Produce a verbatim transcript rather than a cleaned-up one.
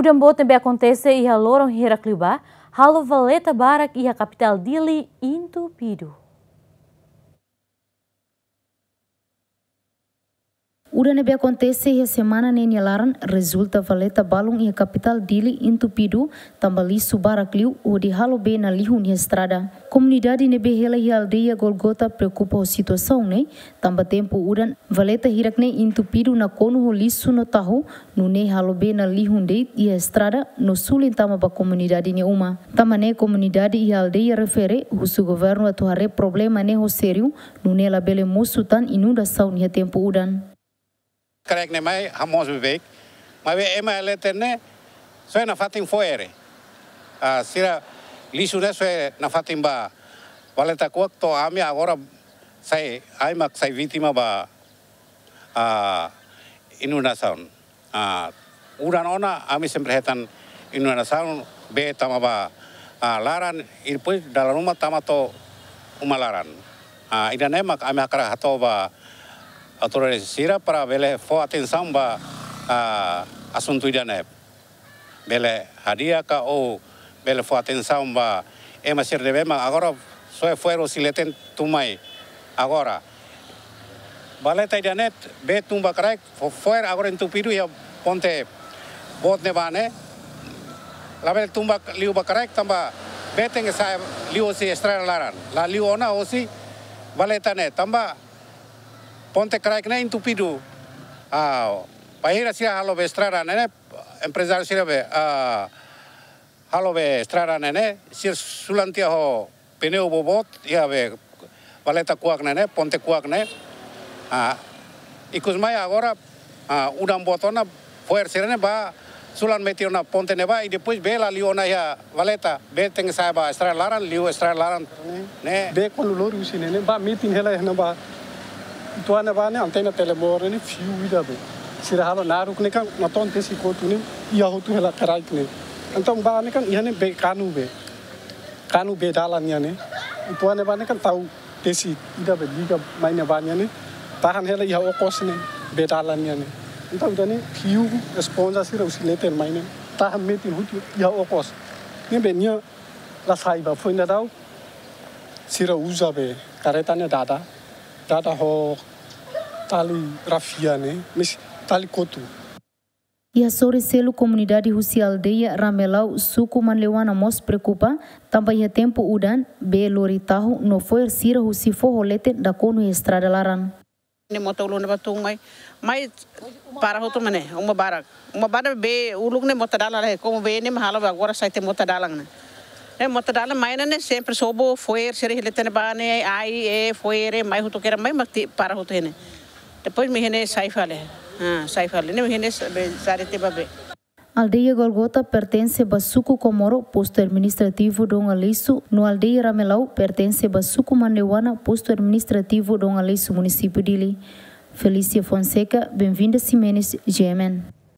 Udan boot ne'ebé akontese iha loron hirak liubá halo valeta barak iha kapitál Dili entupidu. Udan ne'ebé akontese iha semana ne'e nia laran rezulta valeta balun iha kapitál Dili entupidu, tanba lixu barak liu hodi halo bee nalihun iha estrada. Komunidade ne'ebé hela iha aldeia Golgota preokupa ho situasaun ne'e, tanba tempu udan valeta hirak ne'e entupidu nakonu ho lixu no tahu, nune'e halo bee nalihun de'it iha estrada no suli tama ba komunidade nia uma. Tanba ne'e komunidade iha aldeia refere husu governu atu haree problema ne'e ho sériu, nune'e labele mosu tan inundasaun iha tempu udan. Kraik ne'e mai hamoos beibeik, maibé ema iha leten ne'e soe nafatin fo'er. Ah, sira lixu ne'e soe nafatin ba valeta kuak to'o ami agora sai, ai mak sai vítima ba, ah, inundasaun. Ah, udan ona ami sempre hetan inundasaun, bee tama ba, ah, laran, i depois dalan ruma tama to'o uma laran. Ah, ida-ne'e mak ami hakarak hato'o ba autoridade sira para bele fó atensaun ba, ah, asuntu ida-ne'e. Bele hadi'a ka ou bele fó atensaun ba ema sira ne'ebé mak agora soe fo'er hosi leten tun mai. Agora valeta ida-ne'e bee tun ba kraik, fo-, fo'er agora entupidu iha ponte boot ne'ebá ne'e. Labele tun ba liu ba kraik tanba bee tenke sa'e liu hosi estrada laran. La liu ona hosi valeta ne'e tanba ponte kraik ne'e entupidu. Ah, bainhira sira halo bee estrada ne'e, emprezáriu sira be, ah, halo bee estrada ne'e, sira sulan tiha ho pneu boboot iha bee valeta kuak ne'e, ponte kuak ne'e. Ah, ikus mai agora, ah, udan boot ona, fo'er sira-ne'e bá sulan metin ona ponte ne'ebá, i depois bee la liu ona iha valeta, bee tenke sa'e ba estrada laran, liu estrada laran ne'e. Bee kuandu lori husi ne'e, ne'e bá metin hela iha ne'ebá. Uitoan ne'ebá ne'e antena telemovel ne'e fiu ida be. Sira halo naruk ne'e kan, natoon tesi kotu ne'e, iha hotu hela kraik ne'e. Entaun bá ne'e kan, iha ne'e bee kanu be. Kanu bee dalan nian ne'e. Uitoan ne'ebá ne'e kan tau tesi ida be liga mai ne'ebá nian ne'e. Tahan hela iha okos ne'e, bee dalan nian ne'e. Entaun ida-ne'e fiu esponja sira husi leten mai ne'e. Tahan metin hotu iha okos. Ne'ebé nia la sai ba foin daudaun. Sira uza be karreta ne'e dada. Dada ho tali rafia ne'e, mais tali kotu. Iha sorin seluk komunidade husi aldeia Ramelau, suku Manleuana mós preokupa, tanba iha tempu udan, bee lori tahu no fo'er sira husi foho leten nakonu iha estrada laran. Ne'e mota uluk ne'ebá tun mai, mai para hotu mak ne'e, uma barak. Uma barak bee uluk ne'e mota dalan la iha, komu bee ne'e mak halo be agora sai tiha mota dalan ne'e. Ne'e mota dalan mai ne'e, ne'e sempre sobu fo'er sira iha leten ne'ebá ne'e, ai, e, fo'er, e, mai hotu kera mai mak tiha para hotu iha ne'e. Depois mak iha ne'e sai fali. Ah, sai fali. Ne'e mak iha ne'e sa-, be, sari tiha ba bee. Aldeia Golgota pertense ba suku Komoro, postu administrativu Dom Aleixo, no aldeia Ramelau pertense ba suku Manleuana, postu administrativu Dom Aleixo, munisípiu Dili. Felícia Fonseca, Benvinda Ximenes, G M N.